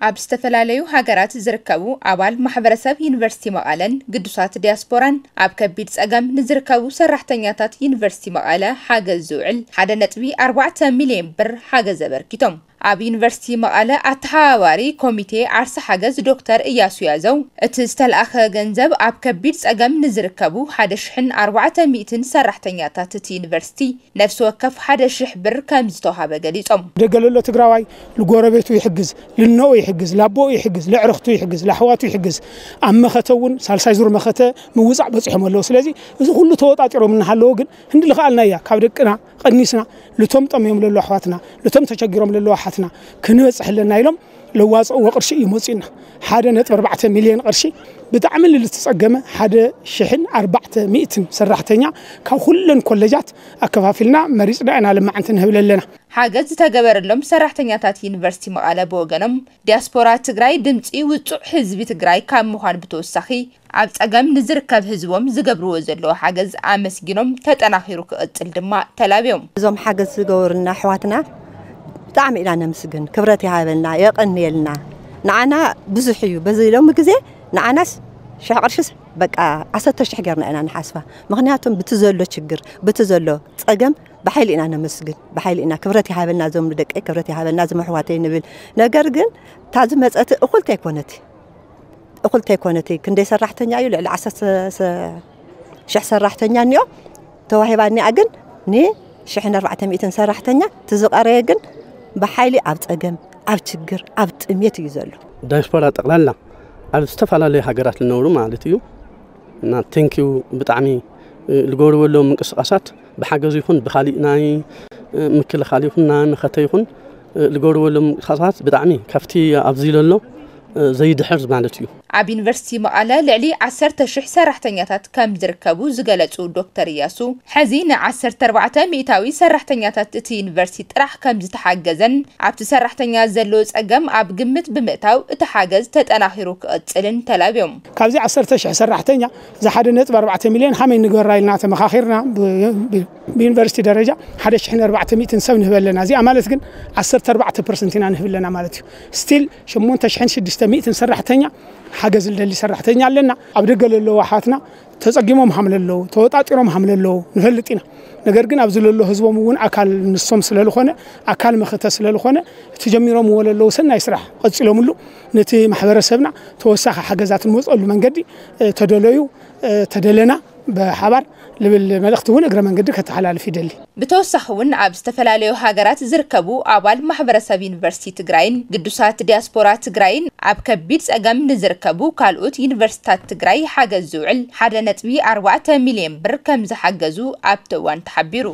ኣብ ዝተፈላለዩ ሃገራት ዝርከቡ ኣባል ማሕበረሰብ ዩኒቨርሲቲ መቐለን ግዱሳት ዲያስፖራን ኣብ ከቢድ ጸገም ንዝርከቡ ሰራሕተኛታት ዩኒቨርሲቲ መቐለ ሓገዝ ዝውዕል ሓደ ነጥቢ ኣርባዕተ ሚልዮን ብር ሓገዝ ኣበርኪቶም። ኣብ ዩኒቨርሲቲ መቐለ ኣተሓባባሪ ኮሚቴ ዓርሲ ሓገዝ ዶክተር እያሱ ያዘው፣ እቲ ዝተለኣኸ ገንዘብ ኣብ ከቢድ ጸገም ንዝርከቡ ሓደ ሽሕን ኣርባዕተ ሚእትን ሰራሕተኛታት እቲ ዩኒቨርሲቲ ነፍሲ ወከፍ ሓደ ሽሕ ብር ከም ዝተዋሃበ ገሊጾም። ደገ ለሎ ትግራዋይ ንጎረቤቱ ይሕግዝ፣ ልኖኡ ይሕግዝ፣ ላቦኡ ይሕግዝ፣ ለዕርኽቱ ይሕግዝ፣ ላሕዋቱ ይሕግዝ። ኣብ መኸተ እውን ሳልሳይ ዙር መኸተ ምውፃእ በፂሖም ኣለዉ። ስለዚ እዚ ኩሉ ተወጣጢሮም እናሃለዎ ግን ህንዲ ልኽኣልና እያ ካብ ደቅና ቀኒስና ልቶም ጠምዮም ለሎ ኣሕዋትና ልቶም ተቸጊሮም ለሎ ኣሓትና ክንበፅሕ ኣለና ኢሎም ለዋፅእዎ ቅርሺ እዩ መፂኡና። ሓደ ነጥቢ ኣርባዕተ ሚልዮን ቅርሺ ብጣዕሚ ልልትፀገመ ሓደ ሽሕን ኣርባዕተ ሚእትን ሰራሕተኛ ካብ ኩለን ኮለጃት ኣከፋፊልና መሪፅና ኢና ልማዓንቲ ንህብል ኣለና። ሓገዝ ዝተገበረሎም ሰራሕተኛታት ዩኒቨርሲቲ መቐለ ብወገኖም ዲያስፖራ ትግራይ ድምፂ ውፁዕ ህዝቢ ትግራይ ካብ ምዃን ብተወሳኺ ኣብ ፀገም ንዝርከብ ህዝቦም ዝገብርዎ ዘለዉ ሓገዝ ኣመስጊኖም ተጠናኺሩ ክቕፅል ድማ ተላብዮም። እዞም ሓገዝ ዝገበሩልና ኣሕዋትና ብጣዕሚ ኢና ነምስግን። ክብረት ይሃበልና፣ የቐንየልና። ንዓና ብዙሕ እዩ። በዚ ሎሚ ግዜ ንዓናስ ሽሕ ቅርሽስ በቃ ዓሰርተ ሽሕ ጌርና ኢና ንሓስባ። ምኽንያቱም ብቲ ዘሎ ችግር ብቲ ዘሎ ፀገም ብሓይሊ ኢና ነመስግን፣ ብሓይሊ ኢና። ክብረት ይሃበልና እዞም ንደቀይ፣ ክብረት ይሃበልና እዞም ኣሕዋተይ ንብል። ነገር ግን እታ ዝመፀት እኹልቲ ኣይኮነት፣ እኹልቲ ኣይኮነት። ክንደይ ሰራሕተኛ እዩ? ልዕሊ ዓሰርተ ሽሕ ሰራሕተኛ እኒኦ ተዋሂባ እኒኣ፣ ግን ንሽሕን ኣርባዕተ ሚእትን ሰራሕተኛ ትዝቐረየ ግን ብሓይሊ ኣብ ፀገም፣ ኣብ ችግር፣ ኣብ ጥሜት እዩ ዘሎ። ዳያስፖራ ጠቕላላ ኣብ ዝተፈላለዩ ሃገራት ዝነብሩ ማለት እዩ እና ቴንኪዩ ብጣዕሚ ዝገብርዎ ዘለዉ ምንቅስቃሳት ብሓገዝ ይኹን ብካሊእ ናይ ምክልኻል ይኹን ናይ መኸተ ይኹን ዝገብርዎ ዘለዉ ምንቅስቃሳት ብጣዕሚ ካብቲ ኣብዚ ዘሎ ዘይድሕር ማለት እዩ። ኣብ ዩኒቨርሲቲ መቐለ ልዕሊ ዓሰርተ ሽሕ ሰራሕተኛታት ከም ዝርከቡ ዝገለፁ ዶክተር እያሱ፣ ሕዚ ን ዓሰርተ ኣርባዕተ ሚእታዊ ሰራሕተኛታት እቲ ዩኒቨርሲቲ ጥራሕ ከም ዝተሓገዘን ኣብቲ ሰራሕተኛ ዘሎ ፀገም ኣብ ግምት ብምእታው እቲ ሓገዝ ተጠናኺሩ ክቕፅልን ተላብዮም። ካብዚ ዓሰርተ ሽሕ ሰራሕተኛ እዚ ሓደ ነጥቢ ኣርባዕተ ሚልዮን ሃመይ ንግበራ ኢልና ተመኻኺርና ብዩኒቨርሲቲ ደረጃ ሓደ ሽሕን ኣርባዕተ ሚእትን ሰብ ንህበ ኣለና። እዚኣ ማለት ግን ዓሰርተ ኣርባዕተ ፐርሰንት ኢና ንህብ ኣለና ማለት እዩ። ስቲል ሸሞንተ ሽሕን ሽዱሽተ ሚእትን ሰራሕተኛ ሓገዝ ዝደሊ ሰራሕተኛ ኣለና። ኣብ ደገ ለለዉ ኣሓትና ተፀጊሞም ሃም ለለዉ ተወጣጢሮም ሃም ለለዉ ንፈልጥ ኢና። ነገር ግን ኣብዚ ለሎ ህዝቦም እውን ኣካል ንሶም ስለልኾነ ኣካል መኸተ ስለልኾነ እቲ ጀሚሮምዎ ለለዉ ሰናይ ስራሕ ቀፂሎምሉ ነቲ ማሕበረሰብና ተወሳኺ ሓገዛት ንመፀሉ መንገዲ ተደለዩ ተደለና ብሓባር ልብል መልእኽቲ እውን እግረ መንገዲ ከተሓላልፍ ይደሊ። ብተወሳኺ እውን ኣብ ዝተፈላለዩ ሃገራት ዝርከቡ ኣባል ማሕበረሰብ ዩኒቨርሲቲ ትግራይን ግዱሳት ዲያስፖራ ትግራይን ኣብ ከቢድ ፀገም ንዝርከቡ ካልኦት ዩኒቨርሲታት ትግራይ ሓገዝ ዝውዕል ሓደ ነጥቢ ኣርባዕተ ሚልዮን ብር ከም ዝሓገዙ ኣብቲ እዋን ተሓቢሩ።